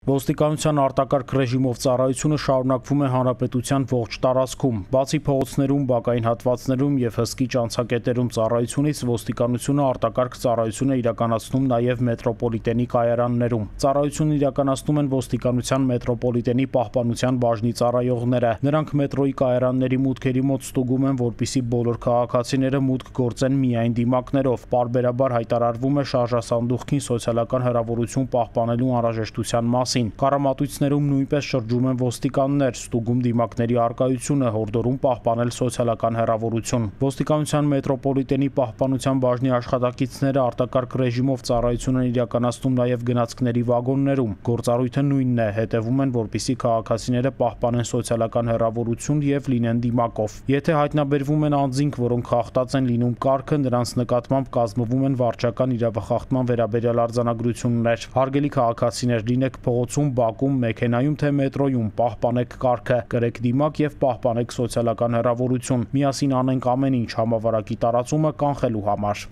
Ոստիկանության արտակարգ ռեժիմով ծառայությունը շարունակվում է հանրապետության ողջ տարածքում։ Բացի փողոցներում, բակային հատվածներում և հսկիչ անցակետերում ծառայությունից, ոստիկանությունը արտակարգ ծառայություն է իրականացնում նաև մետրոպոլիտենի կայարաններում։ Ծառայությունն իրականացնում են ոստիկանության մետրոպոլիտենի պահպանության բաժնի ծառայողները։ Նրանք մետրոյի կայարանների մուտքերի մոտ ստուգում են, որպեսզի բոլոր քաղաքացիները մուտք գործեն միայն դիմակներով։ Պարբերաբար հայտարարվում է շարժասանդուղքին սոցիալական հեռավորություն պահպանելու անհրաժեշտության մասին։ Կառամատույցներում նույնպես շրջում են ոստիկաններ, ստուգում դիմակների առկայությունը, հորդորում պահպանել սոցիալական հեռավորություն։ Ոստիկանության մետրոպոլիտենի պահպանության բաժնի աշխատակիցները արտակարգ ռեժիմով ծառայություն են իրականացնում նաև գնացքների վագոններում։ Գործառույթը նույնն է, հետևում են, որպեսզի քաղաքացիները պահպանեն սոցիալական հեռավորություն և լինեն դիմակով։ Եթե հայտնաբերվում են անձինք, որոնք խախտած են լինում կարգը, նրանց նկատմամբ կազմվում են վարչական իրավախախտման վերաբերյալ արձանագրություններ։ Հարգելի քաղաքացիներ, լինեք փողոցում, բակում, մեքենայում թե մետրոյում, պահպանեք կարգը, կրեք դիմակ և պահպանեք սոցիալական հեռավորություն։ Միասին անենք ամեն ինչ համավարակի տարածումը կանխելու համար։